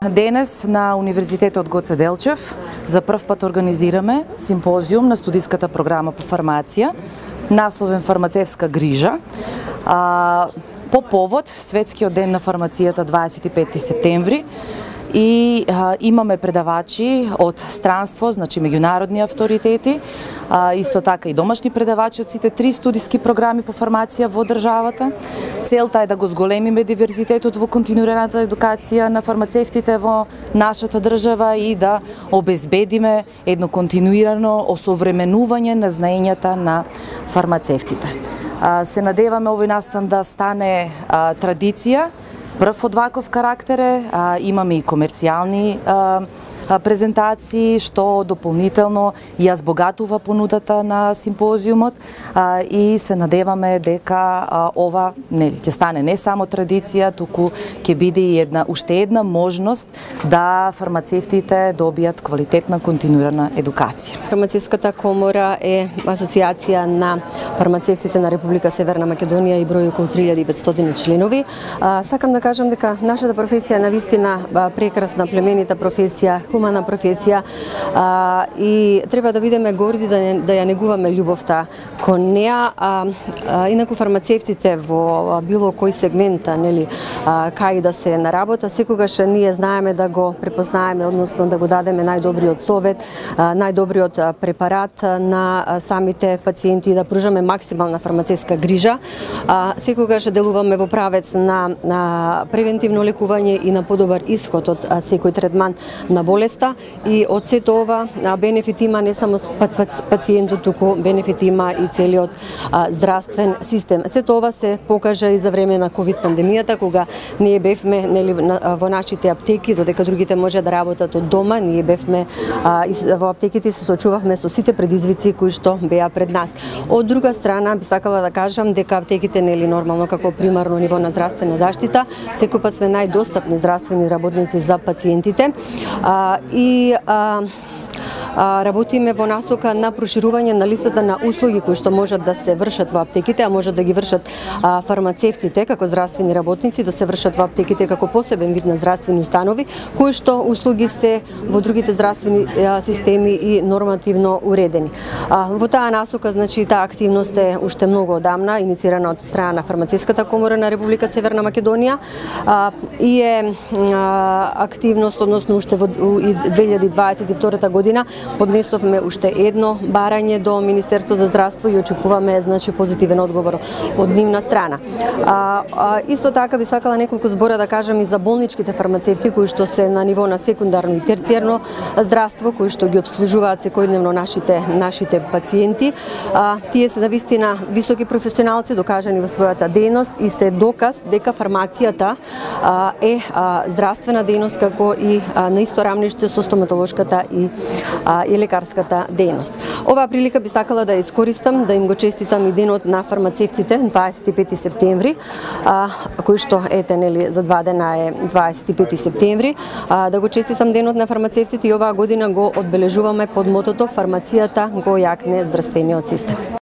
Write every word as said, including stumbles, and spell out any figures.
Денес на Универзитетот Гоце Делчев за прв пат организираме симпозиум на студиската програма по фармација, насловен Фармацевска грижа, а, по повод Светскиот ден на фармацијата дваесет и пети септември. И а, имаме предавачи од странство, значи меѓународни авторитети, а, исто така и домашни предавачи од сите три студиски програми по фармација во државата. Целта е да го зголемиме диверзитетот во континуираната едукација на фармацевтите во нашата држава и да обезбедиме едно континуирано осовременување на знаењата на фармацевтите. А, се надеваме овој настан да стане а, традиција. Прв од ваков карактер е, а, имаме и комерцијални а, а, презентации, што дополнително ја збогатува понудата на симпозиумот а, и се надеваме дека а, ова нели ќе стане не само традиција, туку ќе биде и една уште една можност да фармацевтите добијат квалитетна континуирана едукација. Фармацевската комора е асоциација на фармацевтите на Република Северна Македонија и брои околу три илјади и петстотини членови. А, сакам да кажам дека нашата професија е навистина прекрасна, племенита професија, хумана професија а, и треба да бидеме горди да, не, да ја негуваме љубовта кон неа. А, а, инаку фармацевтите во било кој сегмент, нели, а, кај да се на работа, секогаш ние знаеме да го препознаеме, односно да го дадеме најдобриот совет, а, најдобриот препарат на самите пациенти и да пружаме максимална фармацевска грижа. А, секогаш делуваме во правец на, на превентивно лекување и на подобар исход од а, секој третман на болеста, и од сето ова бенефит има не само пациентот, туку бенефит има и целиот а, здравствен систем. Сето ова се покажа и за време на ковид пандемијата, кога ние бевме нели, во нашите аптеки, додека другите може да работат од дома, ние бевме а, и во аптеките се сочувавме со сите предизвици кои што беа пред нас. Од друга страна, би сакала да кажам дека аптеките нели нормално како примарно ниво на здравствена заштита, секој пат сме најдостапни здравствени работници за пациентите. А, и а, работиме во насока на проширување на листата на услуги кои што можат да се вршат во аптеките, а можат да ги вршат а, фармацевтите како здравствени работници, да се вршат во аптеките како посебен вид на здравствени установи, кои што услуги се во другите здравствени а, системи и нормативно уредени. А, во таа насока, значи, таа активност е уште многу одамна, иницирана од страна на Фармацевската комора на Република Северна Македонија а, и е а, активност, односно уште во две илјади дваесет и втора година поднесовме уште едно барање до Министерство за здравство и очекуваме, значи, позитивен одговор од нивна страна. А, а, исто така би сакала неколку збора да кажам и за болничките фармацевти кои што се на ниво на секундарно и терцијерно здравство, кои што ги обслужуваат секојдневно нашите нашите пациенти. А, тие се навистина високи професионалци, докажани во својата дејност и се доказ дека фармацијата а, е а, здравствена дејност како и а, на исто рамниште со стоматолошката и и лекарската дејност. Оваа прилика би сакала да ја искористам, да им го честитам и денот на фармацевтите, дваесет и пети септември, а, кој што ете нели за два дена е дваесет и пети септември, а, да го честитам денот на фармацевтите и оваа година го одбележуваме под мотото Фармацијата го јакне здравствениот систем.